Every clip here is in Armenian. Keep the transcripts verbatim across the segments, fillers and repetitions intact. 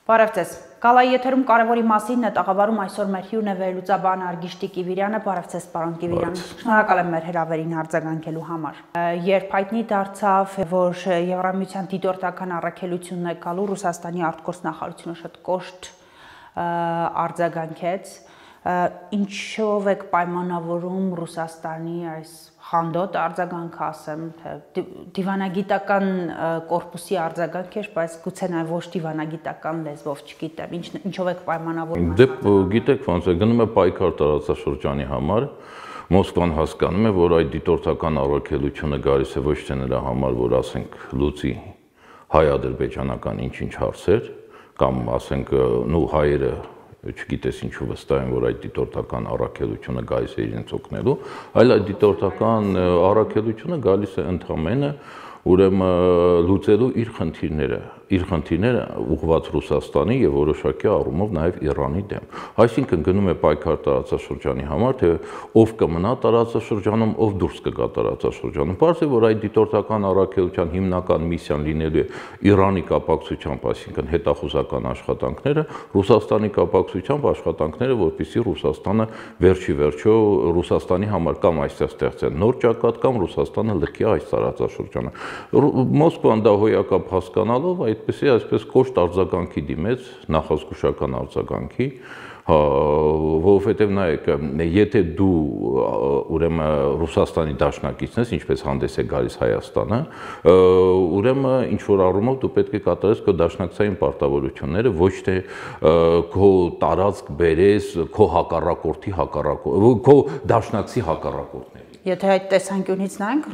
Բարև ձեզ։ Գալայի եթերում կարևորի մասին է տաղավարում այսօր մեր հյուրն է վերլուծաբան Արգիշտի Կիվիրյանը։ Բարև ձեզ, պարոն Կիվիրյան։ Շնորհակալ եմ մեր հրավերին արձագանքելու համար։ Երբ հայտնի դարձավ, որ Եվրամիության դիտորդական առաքելությունն է գալու, Ռուսաստանի արտգործնախարարությունը շատ կոշտ արձագանքեց։ Ինչով եք պայմանավորում Ռուսաստանի այս խանդոտ արձագանքը, ասեմ, դիվանագիտական կորպուսի արձագանք էր, բայց գուցե նաև ոչ դիվանագիտական լեզվով, չգիտեմ, ինչով եք պայմանավորում։ Դե գիտեք ոնց է, գնում է պայքար տարածաշրջանի համար, Մոսկվան հասկանում է, որ այդ դիտորդական առաքելությունը գալիս է ոչ թե նրա համար, որ ասենք լուծի հայ-ադրբեջանական ինչ-ինչ հարցեր, կամ ասենք նու հայերը չգիտես ինչու վստահ են, որ այդ դիտորդական առաքելությունը գալիս է իրենց օգնելու, այլ այդ դիտորդական առաքելությունը գալիս է ընդամենը ուրեմն լուծելու իր խնդիրները, իր խնդիրները ուղղված Ռուսաստանի եւ որոշակի առումով նաեւ Իրանի դեմ։ Այսինքն գնում է պայքար տարածաշրջանի համար, թե ով կմնա տարածաշրջանում, ով դուրս կգա տարածաշրջանում։ Պարզ է, որ այդ դիտորդական առաքելության հիմնական միսիան լինելու է Իրանի կապակցությամբ, այսինքն հետախուզական աշխատանքները, Ռուսաստանի կապակցությամբ աշխատանքները, որպեսզի Ռուսաստանը վերջի վերջո Ռուսաստանի համար կամ այստեղ ստեղծեն նոր ճակատ, կամ Ռուսաստանը լքի այս տարածաշրջանը։ Մոսկվան դա հոյակապ հասկանալով այդպեսի այսպես կոշտ արձագանքի դիմեց, նախազգուշական արձագանքի, որովհետև նայեք, եթե դու ուրեմն Ռուսաստանի դաշնակիցն ես, ինչպես հանդես է գալիս Հայաստանը, ուրեմն ինչ որ առումով դու պետք է կատարես քո դաշնակցային պարտավորությունները, ոչ թե քո տարածք բերես քո հակառակորդի հակառակորդ, քո դաշնակցի հակառակորդների։ Եթե այդ տեսանկյունից նայենք,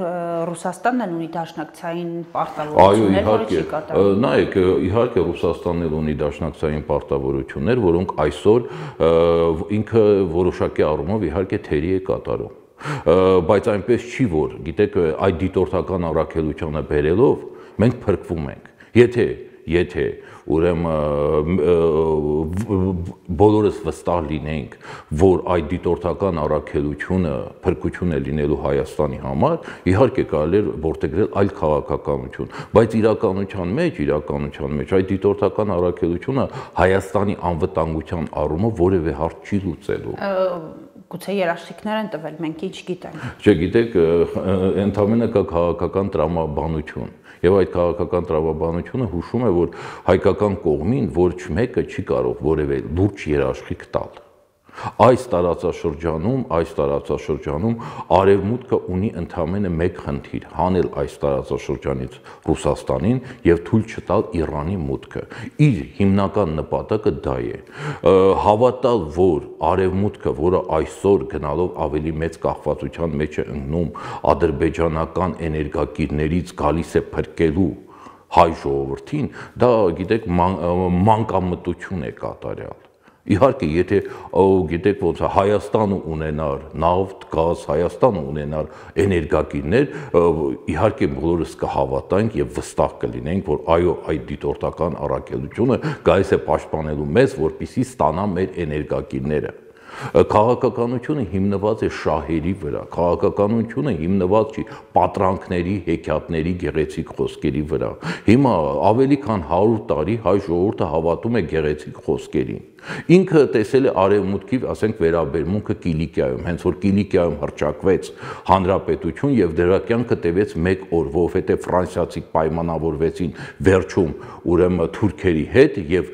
Ռուսաստանն էլ ունի դաշնակցային պարտավորություններ, որը չի կատարում։ Նայեք, իհարկե Ռուսաստանն էլ ունի դաշնակցային պարտավորություններ, որոնք այսօր ինքը որոշակի առումով իհարկե թերի է կատարում։ Բայց այնպես չի, որ գիտեք, այդ դիտորդական առաքելությանը բերելով մենք փրկվում ենք։ Եթե Եթե ուրեմն բոլորս վստահ լինենք, որ այդ դիտորդական առաքելությունը փրկություն է լինելու Հայաստանի համար, իհարկե կարելի է որդեգրել այլ քաղաքականություն, բայց իրականության մեջ, իրականության մեջ այդ դիտորդական առաքելությունը Հայաստանի անվտանգության առումով որևէ հարց չի լուծելու։ Գուցե երաշխիքներ են տվել, մենք ինչ գիտենք։ Չէ, գիտեք, ընդհանրապես կա քաղաքական տրամաբանություն։ Եվ այդ քաղաքական տրամաբանությունը հուշում է, որ հայկական կողմին ոչ մեկը չի կարող որևէ լուրջ երաշխիք տալ։ Այս տարածաշրջանում, այս տարածաշրջանում Արևմուտքը ունի ընդամենը մեկ խնդիր՝ հանել այս տարածաշրջանից Ռուսաստանին եւ թույլ չտալ Իրանի մուտքը։ Իր հիմնական նպատակը դա է։ Հավատալ, որ Արևմուտքը, որը այսօր գնալով ավելի մեծ կախվածության մեջ է ընկնում ադրբեջանական էներգակիրներից, գալիս է փրկելու հայ ժողովրդին, դա գիտեք մանկամտություն է կատարյալ։ Իհարկե, եթե գիտեք ոնց է Հայաստանը ունենար նավթ, գազ, Հայաստանը ունենար էներգակիրներ, իհարկե բոլորս կհավատանք եւ վստահ կլինենք, որ այո, այդ դիտորդական առաքելությունը գալիս է պաշտպանելու մեզ, որպեսզի ստանա մեր էներգակիրները։ Քաղաքականությունը հիմնված է շահերի վրա, քաղաքականությունը հիմնված չի պատրանքների, հեքիաթների, գեղեցիկ խոսքերի վրա։ Հիմա ավելի քան հարյուր տարի հայ ժողովուրդը հավատում է գեղեցիկ խոսքերին։ Ինքը տեսել է Արևմուտքի, ասենք, վերաբերմունքը Կիլիկիայում, հենց որ Կիլիկիայում հռչակվեց հանրապետություն եւ դրա կյանքը տևեց մեկ օր, որովհետեւ ֆրանսիացիք պայմանավորվեցին վերջում ուրեմն թուրքերի հետ եւ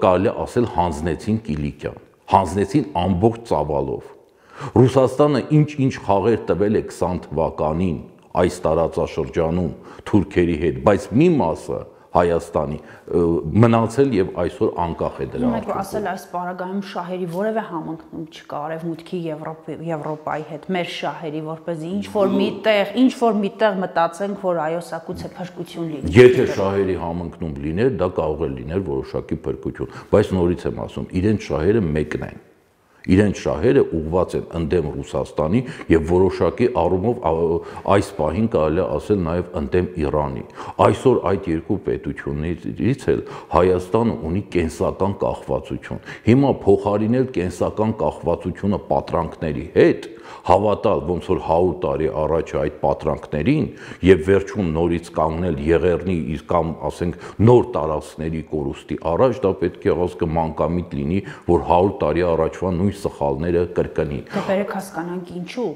կարելի ասել հանձնեցին Կիլիկիան, հանձնեցին ամբողջ ծավալով։ Ռուսաստանը ինչ-ինչ խաղեր տվել է քսան թվականին այս տարածաշրջանում թուրքերի հետ, բայց մի մասը Հայաստանի մնացել եւ այսօր անկախ է դրա։ Ուրեմն ասել այս պարագայում շահերի որևէ համընկնում չկա Արևմուտքի Եվրոպայի հետ, մեր շահերի, որպեսզի ինչ որ միտեղ, ինչ որ միտեղ մտածենք, որ այո, սա գուցե փրկություն լինի։ Եթե շահերի համընկնում լիներ, դա կարող է լինել որոշակի փրկություն, բայց նորից եմ ասում, իրենց շահերը մեկն են։ Իրենց շահերը ուղղված են ընդդեմ Ռուսաստանի եւ որոշակի առումով այս պահին կարելի է ասել նաեւ ընդդեմ Իրանի։ Այսօր այդ երկու պետություններից էլ Հայաստանը ունի կենսական կախվածություն։ Հիմա փոխարինել կենսական կախվածությունը պատրանքների հետ, Հավատալ ոնց որ հարյուր տարի առաջ այդ պատրանքներին եւ վերջում նորից կանգնել Եղեռնի իսկ կամ ասենք նոր տարածքների կորուստի առաջ, դա պետք է ասկը մանկամիտ լինի, որ հարյուր տարի առաջվա նույն սխալները կրկնի։ Դե բերեք հասկանանք ինչու։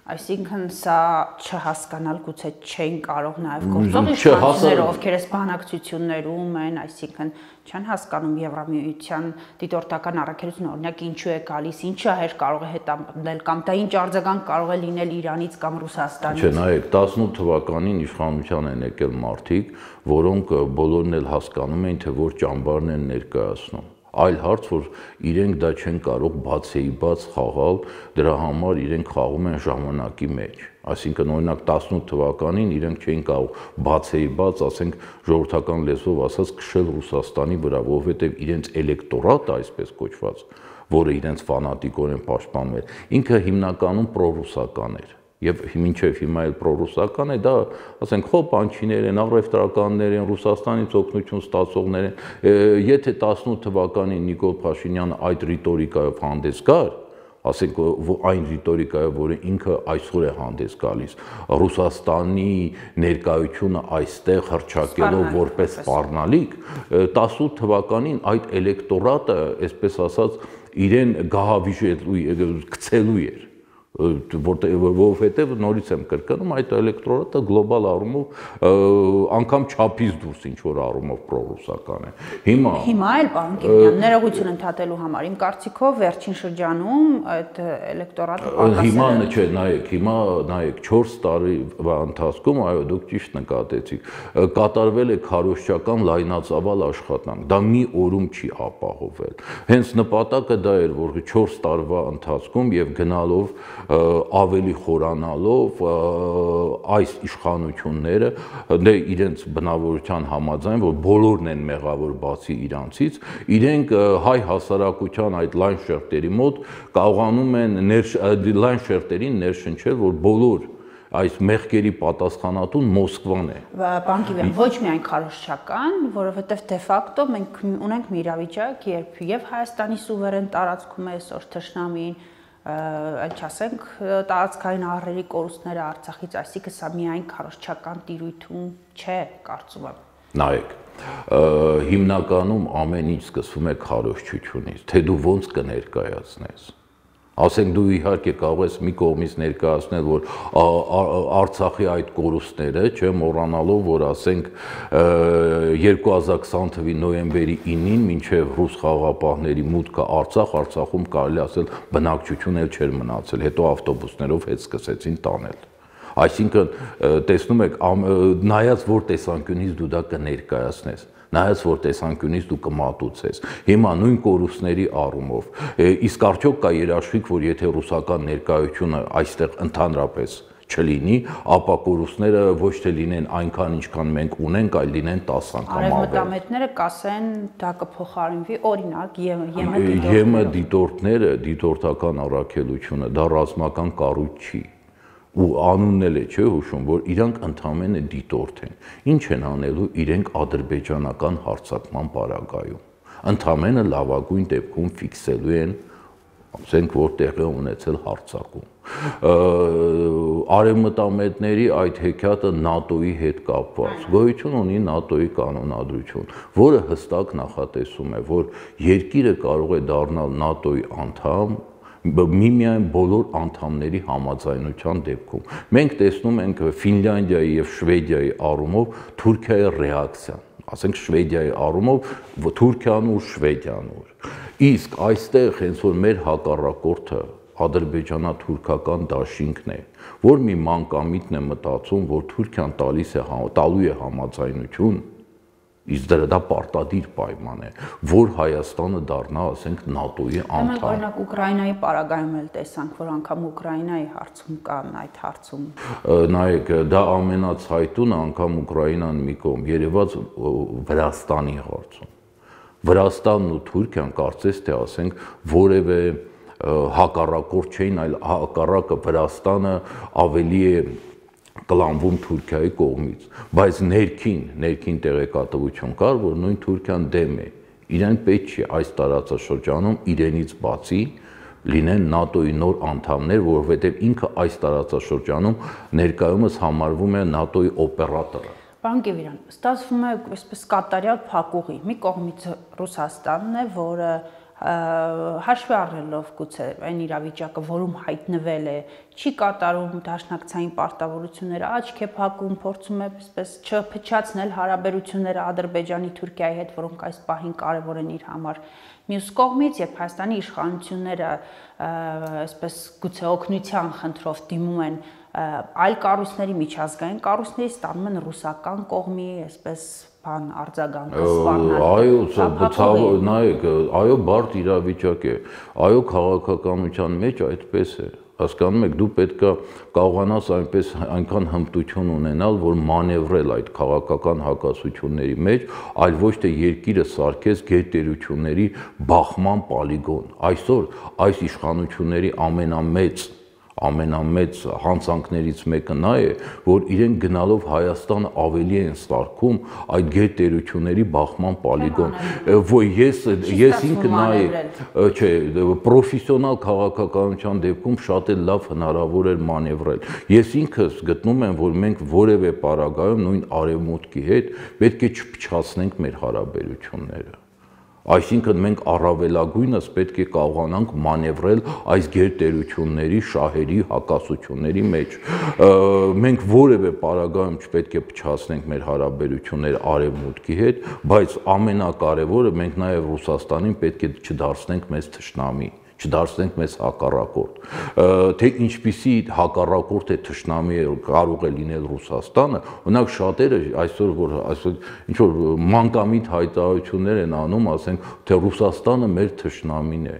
Այսինքն սա չհասկանալ գուցե չեն կարող նաև գործող իշխանությունները, ովքեր այս բանակցություններում են, այսինքն չեն հասկանում Եվրամիության դիտորդական առաքելությունը, օրինակ ինչու է գալիս, ինչը հեր կարող է հետապնդել կամ դա ինչ արձագանք կարող է լինել Իրանից կամ Ռուսաստանից։ Չէ, նայեք, տասնութ թվականին իշխանության են եկել մարդիկ, որոնք բոլորն էլ հասկանում էին, թե որ ճամբարն են ներկայացնում։ Այլ հարց, որ իրենք դա չեն կարող բացեի բաց խաղալ, դրա համար իրենք խաղում են ժամանակի մեջ։ Այսինքն օրինակ տասնութ թվականին իրենք չէին կարող բացեի բաց, ասենք ժողովրդական լեզվով ասած, քշել Ռուսաստանի վրա, որովհետև իրենց էլեկտորատը, այսպես կոչված, որը իրենց ֆանատիկորեն պաշտպանում էր, ինքը հիմնականում պրոռուսական էր։ Եվ մինչև հիմա էլ պրոռուսական է, դա ասենք խոպանչիներ են, առևտրականներ են, Ռուսաստանից օգնություն ստացողներ են։ Եթե տասնութ թվականին Նիկոլ Փաշինյանը այդ ռիտորիկայով հանդես գար, ասենք այն ռիտորիկայով, որը ինքը այսօր է հանդես գալիս, Ռուսաստանի ներկայությունը այստեղ հռչակելով որպես սպառնալիք, տասնութ թվականին այդ էլեկտորատը, այսպես ասած, իրեն գահավիժելու, գցելու էր։ Որովհետև նորից եմ կրկնում, այդ էլեկտորատը գլոբալ առումով անգամ չափից դուրս ինչ որ առումով պրոռուսական է։ Հիմա Հիմա էլ պարոն Կիբյան, ներողություն ընդհատելու համար, իմ կարծիքով վերջին շրջանում այդ էլեկտորատը պակասել է։ Հիմա չէ, նայեք, հիմա նայեք չորս տարի ընթացքում, այո, դուք ճիշտ նկատեցիք, կատարվել է քարոզչական լայնածավալ աշխատանք, դա մի օրում չի ապահովել։ Հենց նպատակը դա էր, որ չորս տարվա ընթացքում եւ գնալով ավելի խորանալով այս իշխանությունները դե իրենց բնավորության համաձայն, որ բոլորն են մեղավոր բացի իրանցից, իրենք հայ հասարակության այդ լայն շերտերի մոտ կարողանում են լայն շերտերին ներշնչել, որ բոլոր այս մեղքերի պատասխանատուն Մոսկվան է։ Պարոն Կիբյան, ոչ միայն քարոզչական, որովհետև դե ֆակտո մենք ունենք մի իրավիճակ, երբ եւ Հայաստանի սուվերեն տարածքում է այսօր թշնամին, այդ չասենք տարածքային ահռելի կորուստները Արցախից, այսինքն սա միայն քարոզչական տիրույթում չէ, կարծում եմ։ Նայեք, հիմնականում ամեն ինչ սկսվում է քարոզչությունից, թե դու ոնց կներկայացնես։ Ասենք դու իհարկե կարող ես մի կողմից ներկայացնել, որ Արցախի այդ կորուստները, չէ, մոռանալով, որ ասենք երկու հազար քսան թվականի նոյեմբերի ինին մինչև ռուս խաղաղապահների մուտքը Արցախ, Արցախում կարելի ասել բնակչություն էլ չէր մնացել, հետո ավտոբուսներով հետ սկսեցին տանել։ Այսինքն, տեսնում եք, նայած որ տեսանկյունից դու դա կներկայացնես, նայած որ տեսանկյունից դու կմատուցես։ Հիմա նույն կորուստների առումով, իսկ արդյոք կա երաշխիք, որ եթե ռուսական ներկայությունը այստեղ ընդհանրապես չլինի, ապա կորուստները ոչ թե լինեն այնքան, ինչքան մենք ունենք, այլ լինեն տասը անգամ ավելի։ Արևմտամետները կասեն, դա կփոխարինվի, օրինակ, ԵՄ դիտորդները, դիտորդական առաքելությունը, դա ռազմական կառույց չի։ Ու անունն էլ է չէ հուշում, որ իրանք ընդամենը դիտորդ են։ Ինչ են անելու իրենք ադրբեջանական հարձակման պարագայում։ Ընդամենը լավագույն դեպքում ֆիքսելու են, ասենք, որ տեղի ունեցել հարձակում։ Արևմտամետների այդ հեքիաթը ՆԱՏՕ-ի հետ կապված, գոյություն ունի ՆԱՏՕ-ի կանոնադրություն, որը հստակ նախատեսում է, որ երկիրը կարող է դառնալ ՆԱՏՕ-ի անդամ միմիայն բոլոր անդամների համաձայնության դեպքում։ Մենք տեսնում ենք Ֆինլանդիայի եւ Շվեդիայի առումով Թուրքիայի ռեակցիան, ասենք Շվեդիայի առումով Թուրքիան ու Շվեդիան ուր։ Իսկ այստեղ հենց որ մեր հակառակորդը ադրբեջանա-թուրքական դաշինքն է, որ մի մանկամիտն է մտածում, որ Թուրքիան տալիս է տալու է համաձայնություն, իսկ դրա դա պարտադիր պայման է, որ Հայաստանը դառնա, ասենք, ՆԱՏՕ-ի անդամ։ Մենք օրինակ Ուկրաինայի պարագայում էլ տեսանք, որ անգամ Ուկրաինայի հարցում կան այդ հարցում։ Նայեք, դա ամենացայտունը անգամ Ուկրաինան մի կողմ, երևաց Վրաստանի հարցում։ Վրաստանն ու Թուրքիան կարծես թե ասենք որևէ հակառակորդ չէին, այլ հակառակը Վրաստանը ավելի է կլանվում Թուրքիայի կողմից, բայց ներքին, ներքին տեղեկատվություն կար, որ նույն Թուրքիան դեմ է, իրեն պետք չի այս տարածաշրջանում իրենից բացի լինեն ՆԱՏՕ-ի նոր անդամներ, որովհետև ինքը այս տարածաշրջանում ներկայումս համարվում է ՆԱՏՕ-ի օպերատորը։ Պարոն Կիվիրյան, ստացվում է այսպես կատարյալ փակուղի։ Մի կողմից Ռուսաստանն է, որը հաշվի առնելով գուցե այն իրավիճակը, որում հայտնվել է, չի կատարում դաշնակցային պարտավորությունները, աչք է փակում, փորձում է այսպես չփչացնել հարաբերությունները Ադրբեջանի, Թուրքիայի հետ, որոնք այս պահին կարևոր են իր համար։ Մյուս կողմից, երբ Հայաստանի իշխանությունները այսպես գուցե օգնության խնդրով դիմում են այլ կառույցների, միջազգային կառույցների, ստանում են ռուսական կողմի այսպես բան արձագանքը սպառնալու։ Այո, նայեք, այո, բարդ իրավիճակ է։ Այո, քաղաքականության մեջ այդպես է։ Հասկանում եք, դու պետքա կարողանաս այնպես այնքան հմտություն ունենալ, որ մանևրել այդ քաղաքական հակասությունների մեջ, այլ ոչ թե երկիրը սարքես գերտերությունների բախման պոլիգոն։ Այսօր այս իշխանությունների ամենամեծ ամենամեծ հանցանքներից մեկը նա է, որ իրենք գնալով Հայաստանը ավելի են սարքում այդ գերտերությունների բախման պոլիգոն։ Որ ես ես ինքը նայ, չէ, պրոֆեսիոնալ քաղաքականության դեպքում շատ էլ լավ հնարավոր էր մանևրել։ Ես ինքս գտնում եմ, որ մենք որևէ պարագայում նույն արևմուտքի հետ պետք է չփչացնենք մեր հարաբերությունները։ Այսինքն մենք առավելագույնս պետք է կարողանանք մանևրել այս գերտերությունների շահերի հակասությունների մեջ։ Մենք որևէ պարագայում չպետք է փչացնենք մեր հարաբերությունները արևմուտքի հետ, բայց ամենակարևորը մենք նաև Ռուսաստանին պետք է չդարձնենք մեզ թշնամի, չդարձնենք մեզ հակառակորդ։ Թե ինչպիսի հակառակորդ է թշնամի կարող է լինել Ռուսաստանը, օրինակ շատերը այսօր որ այսօր ինչ որ մանկամիտ հայտարարություններ են անում, ասենք թե Ռուսաստանը մեր թշնամին է։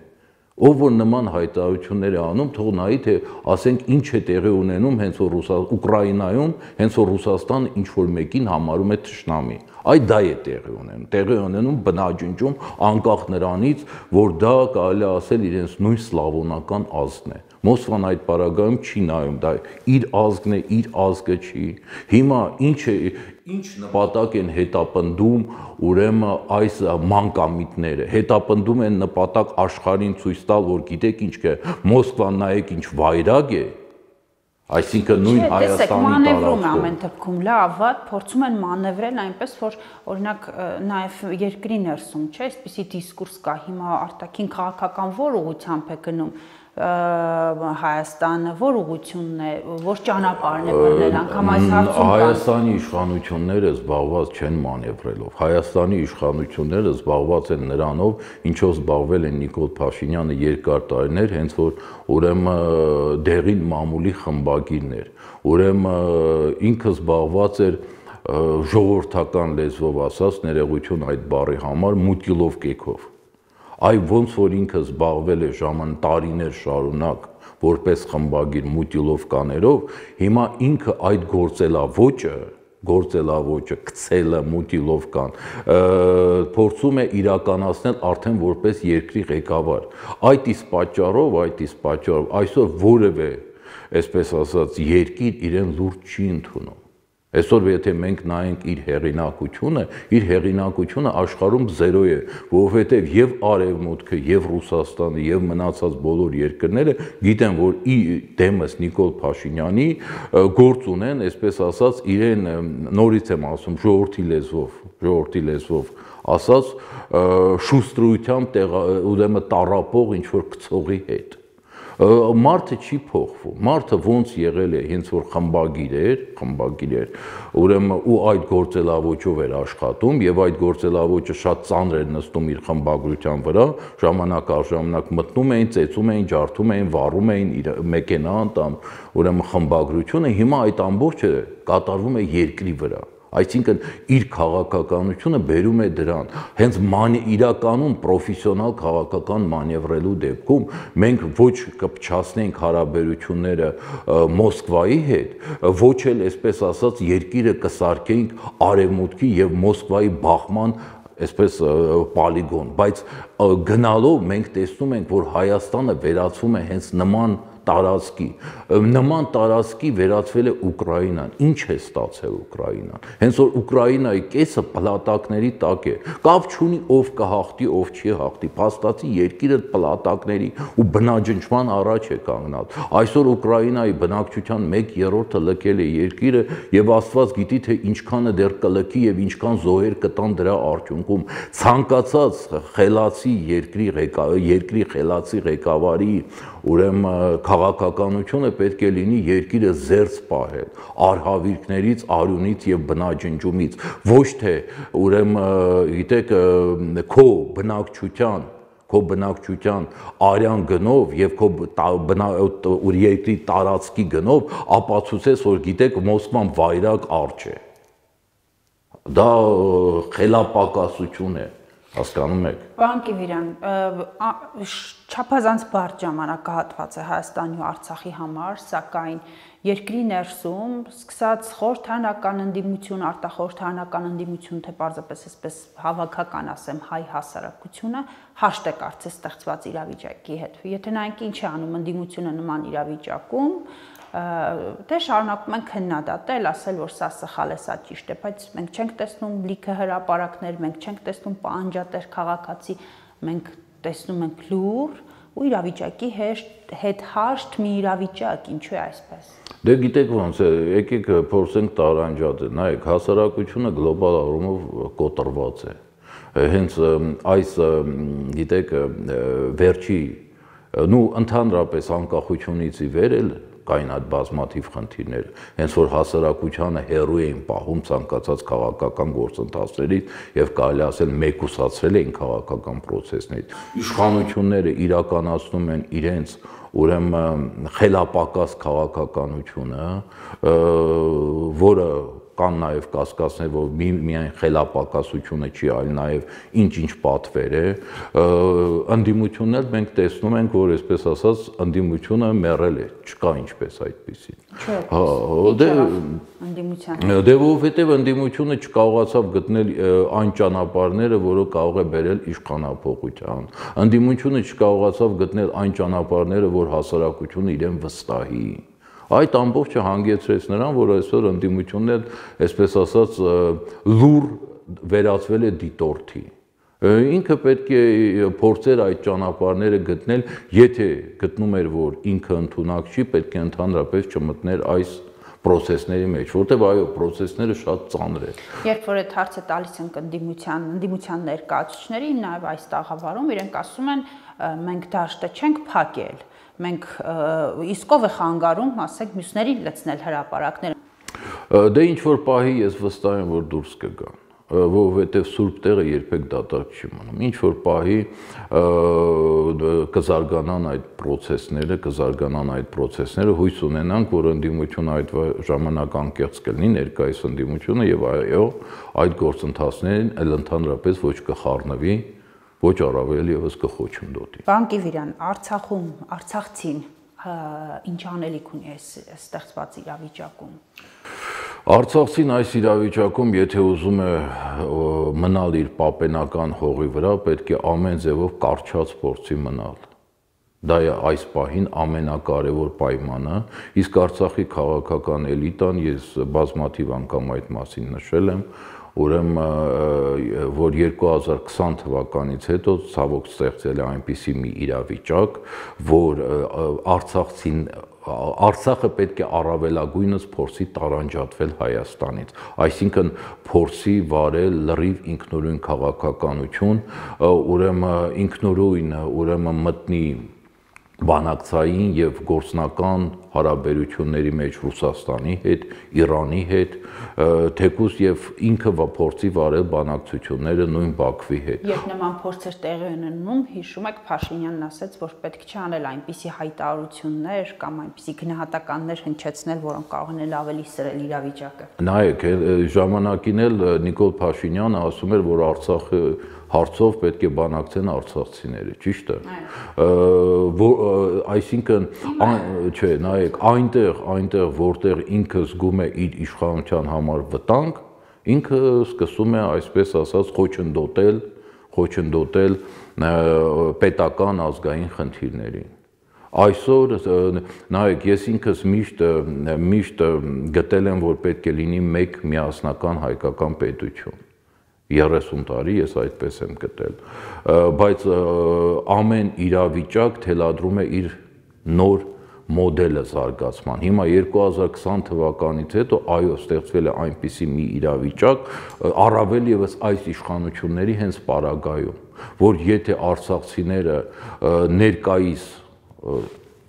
Ով որ նման հայտարարություններ է անում, թող նայի թե ասենք ինչ է տեղի ունենում հենց որ Ուկրաինայում, հենց որ Ռուսաստանը ինչ որ մեկին համարում է թշնամի։ Այ դա է տեղի ունենում, տեղի ունենում բնաջնջում անկախ նրանից, որ դա կարելի ասել իրենց նույն սլավոնական ազգն է։ Մոսկվան այդ պարագայում չի նայում, դա իր ազգն է, իր ազգը չի։ Հիմա ինչ է, ինչ նպատակ են հետապնդում ուրեմն այս մանկամիտները, հետապնդում են նպատակ աշխարհին ցույց տալ, որ գիտեք ինչ է, Մոսկվան նայեք ինչ վայրագ է, այսինքն նույն Հայաստանի մանևրում է ամեն դեպքում լավ, վատ փորձում են մանևրել այնպես, որ օրինակ նաև երկրի ներսում, չէ, այսպիսի դիսկուրս կա, հիմա արտաքին քաղաքական որ ուղղությամբ է գնում Հայաստանը, որ ուղղությունն է, որ ճանապարհն է բռնել, անգամ այս հարցում Հայաստանի իշխանությունները զբաղված չեն մանևրելով։ Հայաստանի իշխանությունները զբաղված են նրանով, ինչով զբաղվել են Նիկոլ Փաշինյանը երկար տարիներ, հենց որ ուրեմն դեղին մամուլի խմբագիրներ, ուրեմն ինքը զբաղված էր ժողովրդական լեզվով ասած, ներողություն այդ բառի համար, մուտիլով կեքով։ Այ ոնց որ ինքը զբաղվել է ժաման տարիներ շարունակ որպես խմբագիր մուտիլովկաներով, հիմա ինքը այդ գործելավոճը, գործելավոճը գցելը մուտիլովկան փորձում է իրականացնել արդեն որպես երկրի ղեկավար։ Այդ իսկ պատճառով, այդ իսկ պատճառով այսօր որևէ, այսպես ասած, երկիր իրեն լուրջ չի ընդունում։ Այսօր եթե մենք նայենք իր հեղինակությունը, իր հեղինակությունը աշխարհում զերո է, որովհետև եւ Արևմուտքը, եւ Ռուսաստանը, եւ մնացած բոլոր երկրները գիտեն, որ ի դեմս Նիկոլ Փաշինյանի գործ ունեն, այսպես ասած, իրեն նորից եմ ասում, ժողովրդի լեզվով, ժողովրդի լեզվով ասած, շուստրույթությամբ ուրեմն տառապող ինչ որ գցողի հետ։ Մարդը չի փոխվում, մարդը ոնց եղել է, հենց որ խմբագիր էր, խմբագիր էր, ուրեմն ու այդ գործելավոճով էր աշխատում եւ այդ գործելավոճը շատ ծանր էր նստում իր խմբագրության վրա, ժամանակ առ ժամանակ մտնում էին, ծեծում էին, ջարդում էին, վառում էին իր մեքենա անդամ, ուրեմն խմբագրությունը, հիմա այդ ամբողջը կատարվում է երկրի վրա։ Այսինքն իր քաղաքականությունը բերում է դրան, հենց իրականում պրոֆեսիոնալ քաղաքական մանևրելու դեպքում մենք ոչ կփչացնենք հարաբերությունները Մոսկվայի հետ, ոչ էլ այսպես ասած երկիրը կսարքենք Արևմուտքի եւ Մոսկվայի բախման այսպես պոլիգոն, բայց գնալով մենք տեսնում ենք, որ Հայաստանը վերածվում է հենց նման տարածքի, նման տարածքի վերածվել է Ուկրաինան։ Ինչ է ստացել Ուկրաինան։ Հենց որ Ուկրաինայի կեսը պլատակների տակ է։ Կապ չունի ով կհաղթի, ով չի հաղթի։ Փաստացի երկիրը պլատակների ու բնաջնջման առաջ է կանգնած։ Այսօր Ուկրաինայի բնակչության մեկ երրորդը լքել է երկիրը եւ Աստված գիտի թե ինչքանը դեռ կլքի եւ ինչքան զոհեր կտան դրա արդյունքում։ Ցանկացած խելացի երկրի երկրի խելացի ղեկավարի ուրեմն քաղաքականությունը պետք է լինի երկիրը զերծ պահել արհավիրքներից, արյունից եւ բնաջնջումից, ոչ թե ուրեմն գիտեք քո բնակչության քո բնակչության արյան գնով եւ քո երկրի տարածքի գնով ապացուցես, որ գիտեք Մոսկվան վայրագ արջ է։ Դա խելապակասություն է, հասկանում եք։ Պարոն Կիվիրյան, չափազանց բարդ ժամանակահատված է Հայաստանի ու Արցախի համար, սակայն երկրի ներսում սկսած խորհրդարանական ընդդիմություն, արտախորհրդարանական ընդդիմություն, թե պարզապես այսպես հավաքական ասեմ, հայ հասարակությունը հաշտ է կարծես ստեղծված իրավիճակի հետ։ Եթե նայենք ինչ է անում ընդդիմությունը նման իրավիճակում, դե շարունակում են քննադատել, ասել, որ սա սխալ է, սա ճիշտ է, բայց մենք չենք տեսնում լիքը հրապարակներ, մենք չենք տեսնում պահանջատեր քաղաքացի, մենք տեսնում ենք լուր ու իրավիճակի հետ հաշտ մի իրավիճակ, ինչու է այսպես։ Դե գիտեք ոնց է, եկեք փորձենք տարանջատել, նայեք, հասարակությունը գլոբալ առումով կոտրված է։ Հենց այս գիտեք վերջի նու ընդհանրապես անկախությունից ի վեր էլ կային այդ բազմաթիվ խնդիրներ, հենց որ հասարակությանը հեռու էին պահում ցանկացած քաղաքական գործընթացներից եւ կարելի ասել մեկուսացրել էին քաղաքական process-ներից։ Իշխանությունները իրականացնում են իրենց ուրեմն խելապակաս քաղաքականությունը, որը կան նաև կասկածներ, որ մի, միայն խելապակասությունը չի, այլ նաև ինչ-ինչ պատվեր է, ընդդիմություններ մենք տեսնում ենք, որ այսպես ասած ընդդիմությունը մեռել է, չկա ինչպես այդպեսին։ Դե որովհետև ընդդիմությունը չկարողացավ գտնել այն ճանապարհները, որը կարող է բերել իշխանափոխության։ Ընդդիմությունը չկարողացավ գտնել այն ճանապարհները, որ հասարակությունը իրեն վստահի։ Այդ ամբողջը հանգեցրեց նրան, որ այսօր ընդդիմությունն էլ, այսպես ասած, լուր վերածվել է դիտորդի։ Ինքը պետք է փորձեր այդ ճանապարհները գտնել, եթե գտնում էր, որ ինքը ընդունակ չի, պետք է ընդհանրապես չմտներ այս process-ների մեջ, որտեղ այո, process-ները շատ ծանր են։ Երբ որ այդ հարցը տալիս են ընդդիմության, ընդդիմության ներկայացուցիչներին, նաև այս տաղավարում իրենք ասում են, մենք դաշտը չենք փակել, մենք իսկ ով է խանգարում, ասենք, մյուսներին լցնել հրապարակները։ Դե ինչ որ պահի ես վստահ եմ, որ դուրս կգան, որովհետև սուրբ տեղը երբեք դատարկ չի մնում։ Ինչ որ պահի կզարգանան այդ process-ները, կզարգանան այդ process-ները, հույս ունենանք, որ ընդդիմությունը այդ ժամանակ անկեղծ կլինի, ներկայիս ընդդիմությունը եւ այո, այդ գործընթացներին այլ ընդհանրապես ոչ կխառնվի, ոչ առավել եւս կխոչընդոտի։ Պարոն Կիվիրյան, Արցախում, Արցախցին ինչ անելիք ունի այս ստեղծված իրավիճակում։ Արցախցին այս իրավիճակում, եթե ուզում է մնալ իր պապենական հողի վրա, պետք է ամեն ձևով կարճած փորձի մնալ։ Դա է այս պահին ամենակարևոր պայմանը, իսկ Արցախի քաղաքական էլիտան, ես բազմաթիվ անգամ այդ մասին նշել եմ, ուրեմն որ երկու հազար քսան թվականից հետո ցավոք ստեղծել է այնպիսի մի իրավիճակ, որ Արցախցին Արցախը պետք է առավելագույնս փորձի տարանջատվել Հայաստանից, այսինքն փորձի վարել լրիվ ինքնուրույն քաղաքականություն, ուրեմն ինքնուրույն ուրեմն մտնի բանակցային եւ գործնական հարաբերությունների մեջ Ռուսաստանի հետ, Իրանի հետ, թեկուզ եւ ինքը փորձի վարել բանակցությունները նույն Բաքվի հետ։ Երբ նման փորձեր տեղի ունենում, հիշում եք Փաշինյանն ասաց, որ պետք չէ անել այնպիսի հայտարարություններ կամ այնպիսի գնահատականներ հնչեցնել, որոնք կարող են ավելի սրել իրավիճակը։ Նայեք, ժամանակին էլ Նիկոլ Փաշինյանը ասում էր, որ Արցախը հարցով պետք է բանակցեն արցախցիները, ճիշտ է։ Այսինքն, չէ, նայեք, այնտեղ, այնտեղ, որտեղ ինքը զգում է իր իշխանության համար վտանգ, ինքը սկսում է, այսպես ասած, խոչընդոտել, խոչընդոտել պետական ազգային խնդիրներին։ Այսօր նայեք, ես ինքս միշտ միշտ գտել եմ, որ պետք է լինի մեկ միասնական հայկական պետություն։ երեսուն տարի ես այդպես եմ գտել, բայց ամեն իրավիճակ թելադրում է իր նոր մոդելը զարգացման։ Հիմա երկու հազար քսան թվականից հետո այո ստեղծվել է այնպիսի մի իրավիճակ, առավել եւս այս իշխանությունների հենց պարագայում, որ եթե արցախցիները ներկայիս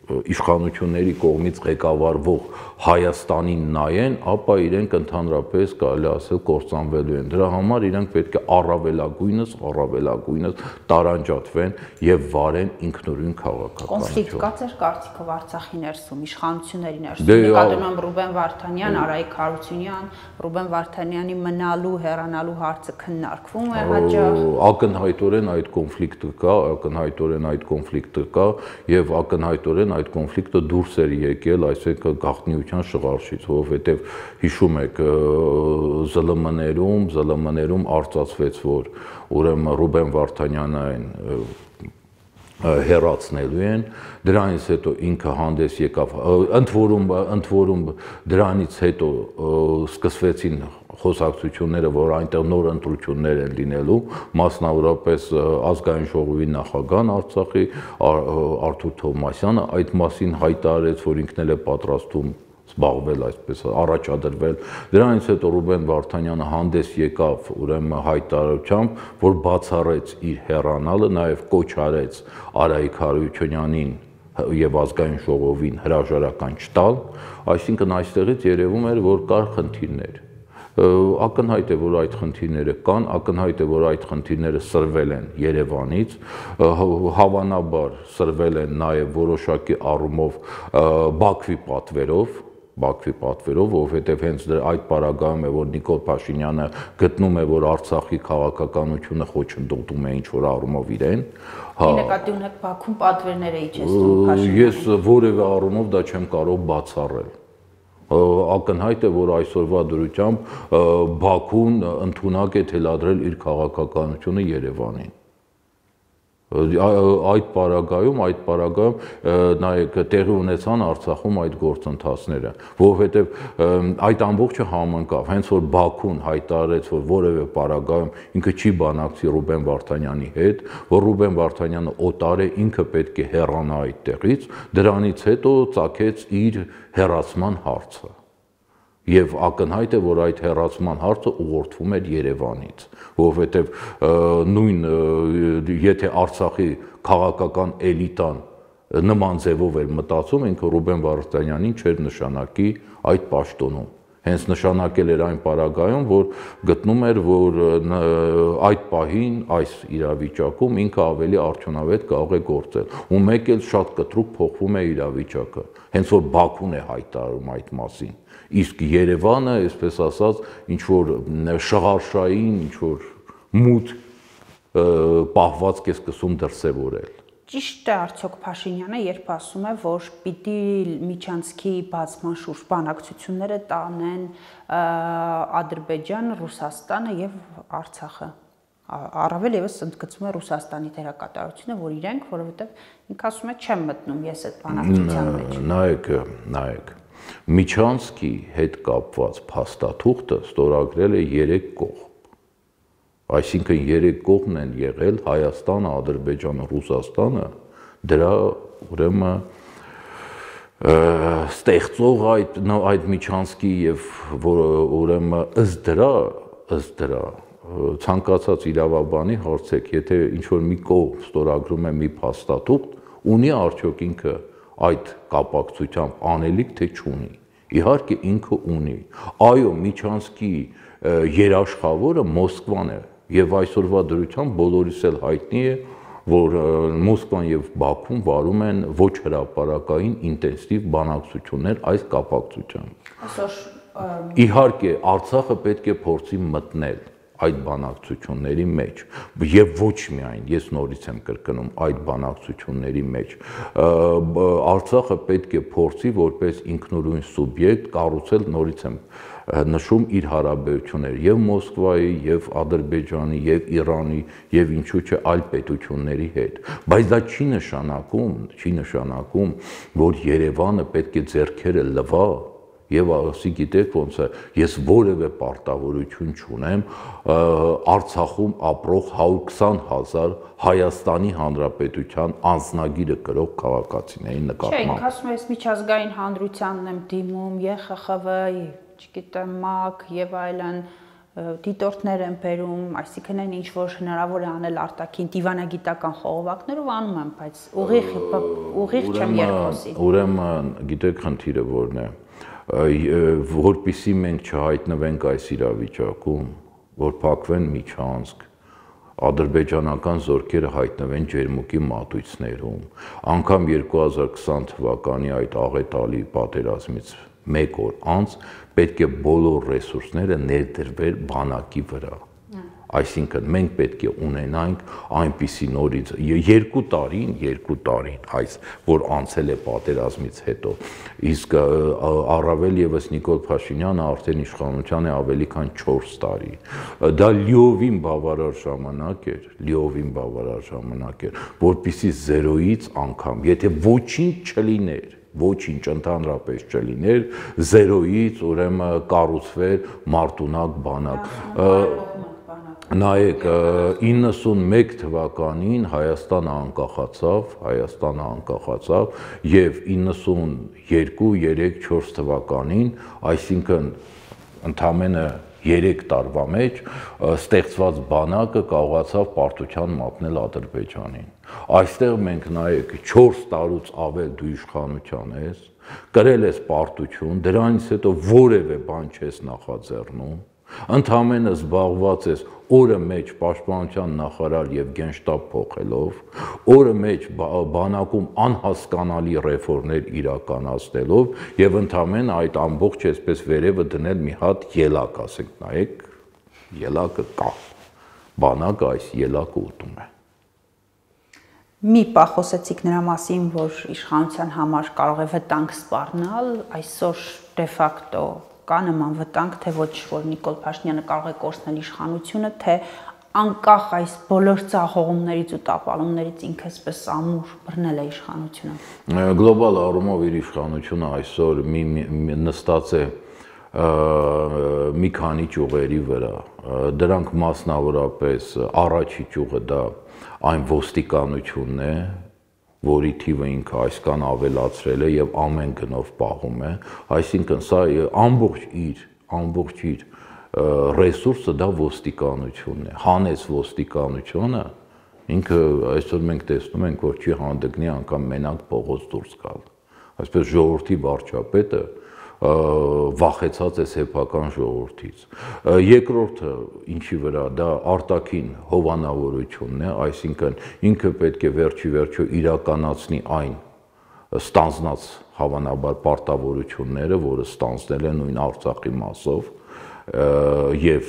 իշխանությունների կողմից ղեկավարվող Հայաստանին նայեն, ապա իրենք ընդհանրապես կարելի ասել կործանվելու են։ Դրա համար իրենք պետք է առավելագույնս, առավելագույնս տարանջատվեն եւ վարեն ինքնուրույն քաղաքականություն։ Կոնֆլիկտ կա ձեր կարծիքով Արցախի ներսում, իշխանությունների ներսում։ Նկատում եմ Ռուբեն Վարդանյան, Արայիկ Հարությունյան, Ռուբեն Վարդանյանի մնալու, հեռանալու հարցը քննարկվում է հաճախ։ Ակնհայտորեն այդ կոնֆլիկտը կա, ակնհայտորեն այդ կոնֆլիկտը կա եւ ակնհայտորեն այդ կոնֆլիկտը դուրս էր եկել, այսինքն գաղտնիության շղարշից, որովհետեւ հիշում եք ԶԼՄ-ներում, ԶԼՄ-ներում արծացվեց, որ ուրեմն Ռուբեն Վարդանյանն հեռացնելու են, դրանից հետո ինքը հանդես եկավ, ընդ որում ընդ որում դրանից հետո սկսվեցին խոսակցությունները, որ այնտեղ նոր ընտրություններ են լինելու, մասնավորապես ազգային ժողովի նախագահն Արցախի Արթուր Թովմասյանը այդ մասին հայտարարեց, որ ինքն էլ է պատրաստվում զբաղվել այսպես առաջադրվել։ Դրանից հետո Ռուբեն Վարդանյանը հանդես եկավ ուրեմն հայտարարությամբ, որ բացառեց իր հեռանալը, նաև կոչ արեց Արայիկ Հարությունյանին եւ ազգային ժողովին հրաժարական չտալ, այսինքն այստեղից երևում էր, որ կար խնդիրներ։ Ակնհայտ է, որ այդ խնդիրները կան, ակնհայտ է, որ այդ խնդիրները սրվել են Երևանից, հավանաբար սրվել են նաև որոշակի առումով Բաքվի պատվերով, Բաքվի պատվերով, որովհետև հենց այդ պարագայում է, որ Նիկոլ Փաշինյանը գտնում է, որ Արցախի քաղաքականությունը խոչընդոտում է ինչ-որ առումով իրեն։ Նկատի ունեք Բաքվում պատվերներ է իջեցնում Փաշինյանը։ Ես որևէ առումով դա չեմ կարող բացառել։ Ակնհայտ է, որ այսօրվա դրությամբ Բաքուն ընդունակ է թելադրել իր քաղաքականությունը Երևանին։ Այդ պարագայում, այդ պարագայում նայեք տեղի ունեցան Արցախում այդ գործընթացները, որովհետև այդ ամբողջը համընկավ, հենց որ Բաքուն հայտարարեց, որ որևէ պարագայում ինքը չի բանակցի Ռուբեն Վարդանյանի հետ, որ Ռուբեն Վարդանյանը օտար է, ինքը պետք է հեռանա այդտեղից, դրանից հետո ծագեց իր հեռացման հարցը։ Եվ ակնհայտ է, որ այդ հեռացման հարցը ուղղորդվում էր Երևանից, որովհետև նույն եթե Արցախի քաղաքական էլիտան նման ձևով էր մտածում, ինքը Ռուբեն Վարդանյանին չէր նշանակի այդ պաշտոնում։ Հենց նշանակել էր այն պարագայում, որ գտնում էր, որ այդ պահին, այս իրավիճակում ինքը ավելի արդյունավետ կարող է գործել։ Ու մեկ էլ շատ կտրուկ փոխվում է իրավիճակը, հենց որ Բաքուն է հայտարարում այդ մասին։ Իսկ Երևանը, այսպես ասած, ինչ որ շղարշային, ինչ որ մութ պահվածք է սկսում դրսևորել։ Ճիշտ է արդյոք Փաշինյանը, երբ ասում է, որ պիտի միջանցքի բացման շուրջ բանակցությունները տանեն Ադրբեջան, Ռուսաստանը եւ Արցախը։ Առավել եւս ընդգծում է Ռուսաստանի դերակատարությունը, որ իրենք, որովհետեւ ինքը ասում է, չեմ մտնում ես այդ բանակցության մեջ։ Նայեք, նայեք։ Միջանցքի հետ կապված փաստաթուղթը ստորագրել է երեք կողմ։ Այսինքն երեք կողմն են եղել Հայաստանը, Ադրբեջանը, Ռուսաստանը, դրա ուրեմն ստեղծող այդ այդ միջանցքի եւ ուրեմն ըստ դրա, ըստ դրա ցանկացած իրավաբանի հարցեք, եթե ինչ որ մի կողմ ստորագրում է մի փաստաթուղթ, ունի արդյոք ինքը այդ կապակցությամբ անելիք թե չունի։ Իհարկե ինքը ունի։ Այո, միջանցքի երաշխավորը Մոսկվան է եւ այսօրվա դրությամբ բոլորիս էլ հայտնի է, որ Մոսկվան եւ Բաքուն վարում են ոչ հրապարակային ինտենսիվ բանակցություններ այս կապակցությամբ։ Իհարկե, Արցախը պետք է փորձի մտնել այդ բանակցությունների մեջ եւ ոչ միայն, ես նորից եմ կրկնում, այդ բանակցությունների մեջ Արցախը պետք է փորձի որպես ինքնուրույն սուբյեկտ կառուցել, նորից եմ նշում, իր հարաբերությունները եւ Մոսկվայի, եւ Ադրբեջանի, եւ Իրանի, եւ ինչու՞ չէ այլ պետությունների հետ, բայց դա չի նշանակում, չի նշանակում, որ Երևանը պետք է ձեռքերը լվա եւ ասի, գիտեք ոնց է, ես որևէ պարտավորություն չունեմ Արցախում ապրող հարյուր քսան հազար Հայաստանի Հանրապետության անձնագիրը կրող քաղաքացիների նկատմամբ։ Չէ, ինքը ասում է, ես միջազգային հանրությանն եմ դիմում, Ե Խ Խ V, չգիտեմ, ՄԱԿ եւ այլն դիտորդներ են բերում, այսինքն այն ինչ որ հնարավոր է անել արտաքին դիվանագիտական խողովակներով անում եմ, բայց ուղիղ ուղիղ չեմ երկոսի։ Ուրեմն, գիտեք, խնդիրը որն է, որպեսզի մենք չհայտնվենք այս իրավիճակում, որ փակվեն միջանցք, ադրբեջանական զորքերը հայտնվեն ջերմուկի մատույցներում, անգամ երկու հազար քսան թվականի այդ աղետալի պատերազմից մեկ օր անց պետք է բոլոր ռեսուրսները ներդրվել բանակի վրա։ Այսինքն մենք պետք է ունենանք այնպիսի նորից երկու տարին, երկու տարին այս, որ անցել է պատերազմից հետո, իսկ առավել եւս Նիկոլ Փաշինյանը արդեն իշխանության է ավելի քան չորս տարի։ Դա լիովին բավարար ժամանակ էր, լիովին բավարար ժամանակ էր, որպեսզի զերոյից անգամ, եթե ոչինչ չլիներ, ոչինչ ընդհանրապես չլիներ, զերոյից ուրեմն կառուցվեր մարտունակ բանակ։ Նայեք, իննսունմեկ թվականին Հայաստանը անկախացավ, Հայաստանը անկախացավ եւ իննսունյոթ, երեք, չորս թվականին, այսինքն ընդամենը երեք տարվա մեջ ստեղծված բանակը կարողացավ պարտության մատնել Ադրբեջանին։ Այստեղ մենք նայեք չորս տարուց ավել դու իշխանության ես, կրել ես պարտություն, դրանից հետո որևէ բան չես նախաձեռնում, ընդամենը զբաղված ես օրը մեջ պաշտպանության նախարար եւ գենշտաբ փոխելով, օրը մեջ բանակում անհասկանալի ռեֆորմներ իրականացնելով եւ ընդամենը այդ ամբողջ այսպես վերևը դնել մի հատ ելակ, ասենք, նայեք, ելակը կա, բանակը այս ելակը ուտում է։ Մի պահ խոսեցիք նրա մասին, որ իշխանության համար կարող է վտանգ սպառնալ, այսօր դե ֆակտո կա նման վտանգ, թե ոչ որ Նիկոլ Փաշինյանը կարող է կորցնել իշխանությունը, թե անկախ այս բոլոր ծաղողումներից ու տապալումներից ինքը այսպես ամուր բռնել է իշխանությունը։ Գլոբալ առումով իր իշխանությունը այսօր մի նստած է մի քանի ճյուղերի վրա, դրանք մասնավորապես առաջի ճյուղը դա այն ոստիկանությունն է, որի թիվը ինքը այսքան ավելացրել է եւ ամեն գնով պահում է, այսինքն սա ամբողջ իր, ամբողջ իր ռեսուրսը դա ոստիկանությունն է, հանեց ոստիկանությունը, ինքը այսօր մենք տեսնում ենք, որ չի հանդգնի անգամ մենակ փողոց դուրս գալ, այսպես ժողովրդի վարչապետը վախեցած է սեփական ժողովրդից։ Երկրորդը ինչի վրա դա արտաքին հովանավորությունն է, այսինքն ինքը պետք է վերջի վերջո իրականացնի այն ստանձնած հավանաբար պարտավորությունները, որը ստանձնել է նույն Արցախի մասով եւ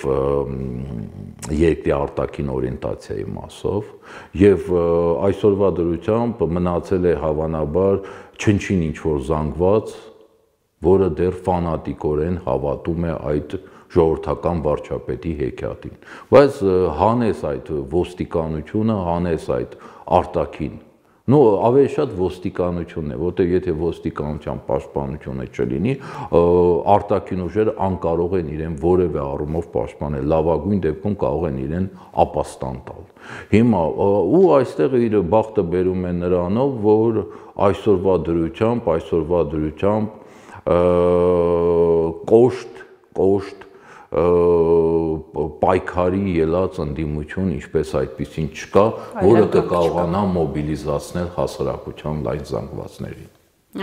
երկրի արտաքին օրիենտացիայի մասով եւ այսօրվա դրությամբ մնացել է հավանաբար չնչին ինչ որ զանգված, որը դեռ ֆանատիկորեն հավատում է այդ ժողովրդական վարչապետի հեքիաթին, բայց հանես այդ ոստիկանությունը, հանես այդ արտաքին, նո ավելի շատ ոստիկանությունն է, որտեղ եթե ոստիկանության պաշտպանությունը չլինի, արտաքին ուժերը անկարող են իրեն որևէ առումով պաշտպանել, լավագույն դեպքում կարող են իրեն ապաստան տալ։ Հիմա ու այստեղ իր բախտը բերում է նրանով, որ այսօրվա դրությամբ, այսօրվա դրությամբ կոշտ, կոշտ պայքարի ելած ընդդիմություն ինչպես այդպեսին չկա, որը կկարողանա մոբիլիզացնել հասարակության լայն զանգվածներին։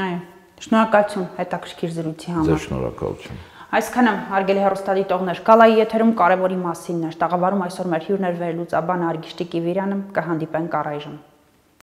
Այո, շնորհակալություն հետաքրքիր զրույցի համար։ Ձեր շնորհակալություն։ Այսքանը հարգելի հեռուստադիտողներ, Կալայի եթերում կարևորի մասին էր, տաղավարում այսօր մեր հյուրն էր վերլուծաբան Արգիշտի Կիվիրյանը, կհանդիպենք առայժմ։